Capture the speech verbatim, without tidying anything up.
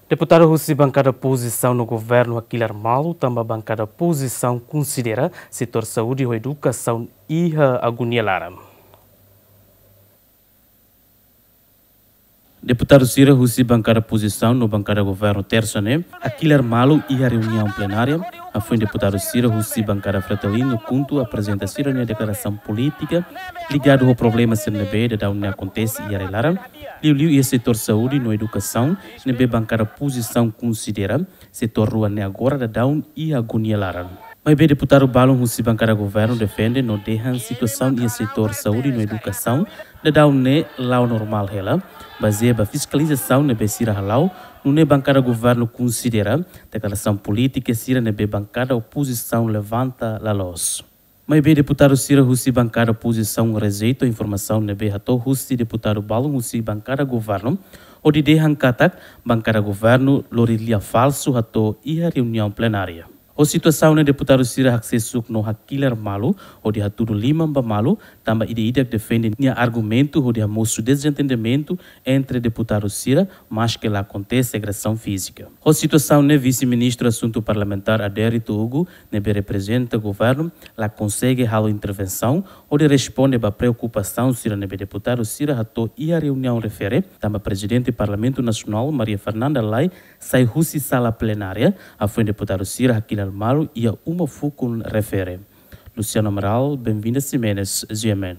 Deputadu husi bankada opozisaun no governu hakilar malu tanba bankada opozisaun konsidera setór saúde ho edukasaun iha agonia laran. Deputadu sira husi bankada opozisaun no bankada governu Tersa ne'e hakilar malu iha reuniaun plenária, hafoin deputadu sira husi bankada Fretilin no KHUNTO aprezenta sira-nia deklarasaun polítika ligadu ho problema sira ne'ebé daudaun ne'e akontese iha rai-laran, liuliu iha setór saúde no edukasaun ne'ebé bankada opozisaun konsidera setór rua ne'e agora daudaun iha agonia laran. Maibé deputadu balun husi bankada governu defende no dehan situasaun iha setór saúde no edukasaun daudaun ne'e la'o normál hela, bazeia ba fiskalizasaun ne'ebé sira hala'o, nune'e bankada governu konsidera deklarasaun polítika sira ne'ebé bankada opozisaun levanta la loos. Maibé deputadu sira husi bankada opozisaun rejeita informasaun ne'ebé hato'o husi deputadu balun husi bankada governu, hodi dehan katak bankada governu lori lia falsu hato'o iha reuniaun plenária. Ho situasaun ne'e deputadu sira hakseksuk no hakilar malu, hodi hatudu liman ba malu, tanba ida-idak defende nia argumentu hodi hamosu dezentendimentu entre deputadu sira, maske la akontese agresaun fízika. Ho situasaun ne'e vise-ministru asuntu parlamentár Adérito Hugo, ne'ebé reprezenta governu, la konsege halo intervensaun hodi responde ba preokupasaun sira ne'ebé deputadu sira hato'o iha reuniaun refere, tanba prezidente Parlamentu Nasionál Maria Fernanda Lay sai husi sala plenária, hafoin deputadu sira hakilar malu iha uma fukun refere. Luciano Amaral, Benvinda Ximenes, G M N.